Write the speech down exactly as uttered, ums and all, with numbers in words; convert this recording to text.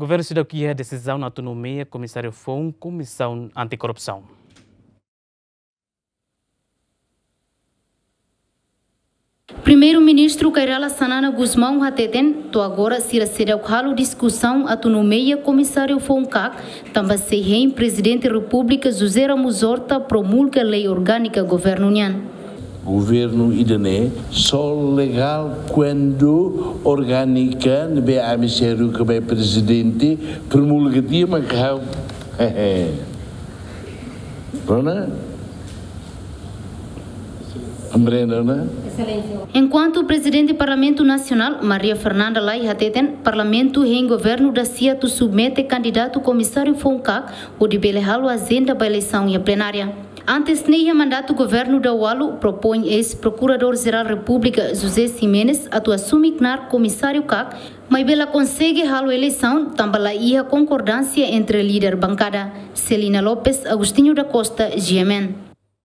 Governu seidauk iha desizaun atu nomeia komisáriu foun Komisaun Antikorrupsaun. Primeiru-Ministru Kay Rala Xanana Gusmão hateten, to'o agora sira seidauk halo diskusaun atu nomeia komisáriu foun kak, tanba sei hein Prezidente Repúblika José Ramos Horta promulga lei orgánika governu nian. Governu ida-ne'e só legál kuandu orgánika ne'ebé ami sei haruka ba Prezidente promulga tiha mak ha'u. Rona? Komprende, né? Enkuantu Prezidente Parlamentu Nasionál, Maria Fernanda Lay hateten, Parlamentu hein governu da-sia atu submete kandidatu komisáriu foun kak, hodi bele halo ajenda ba eleisaun iha plenária. Antes ne'e iha mandatu governu daualu propoin eis-Prokuradór-Jerál Repúblika José Ximenes atu asume knaar komisáriu kak, maibé la konsege halo eleisaun tanba la iha konkordánsia entre líder bankada. Celina Lopes, Agostinho da Costa, G M N.